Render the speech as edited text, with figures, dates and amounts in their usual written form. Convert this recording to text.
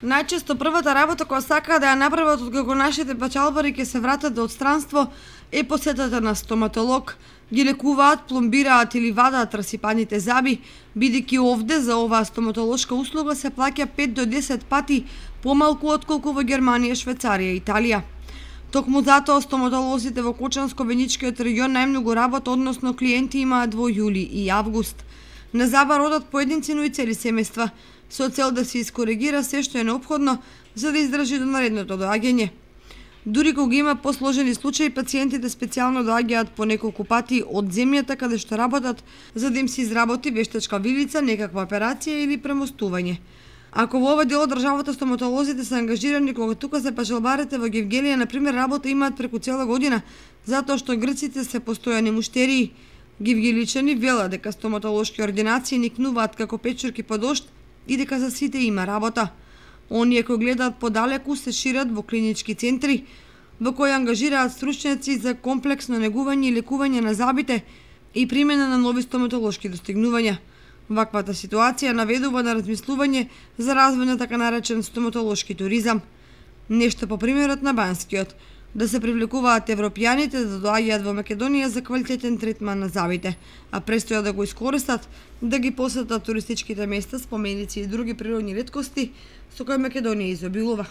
Најчесто првата работа која сакаат да ја направат откако нашите пачалбари ќе се вратат од странство е посетата на стоматолог. Ги лекуваат, пломбираат или вадаат расипаните заби, бидејќи овде за оваа стоматолошка услуга се плаќа 5 до 10 пати помалку отколку во Германија, Швајцарија и Италија. Токму затоа стоматолозите во Кочанско-Веничкиот регион најмногу работа, односно клиенти имаат во јули и август. На забар одат поединци, но и цели семејства, со цел да се искоригира се што е неопходно за да издржи до наредното доаѓање. Дури кога има посложени случаи, пациентите специјално доаѓаат по неколку пати од земјата каде што работат, за да им се изработи вештачка вилица, некаква операција или премостување. Ако во овој дел од државата стоматолозите се ангажирани, кога тука се пачалбарите во Гевгелија, например, работа имаат преку цела година, затоа што грците се постојани муштерии. Гевгеличани велат дека стоматолошки ординации никнуваат како печурки по дожд и дека за сите има работа. Оние кои гледаат подалеку се шират во клинички центри, во кои ангажираат стручњаци за комплексно негување и лекување на забите и примена на нови стоматолошки достигнувања. Ваквата ситуација наведува на размислување за развој на така наречен стоматолошки туризам. Нешто по примерот на Банскиот, да се привлекуваат европјаните да доаѓаат во Македонија за квалитетен третман на забите, а престоја да го искористат да ги посетат туристичките места, споменици и други природни реткости со кои Македонија изобилува.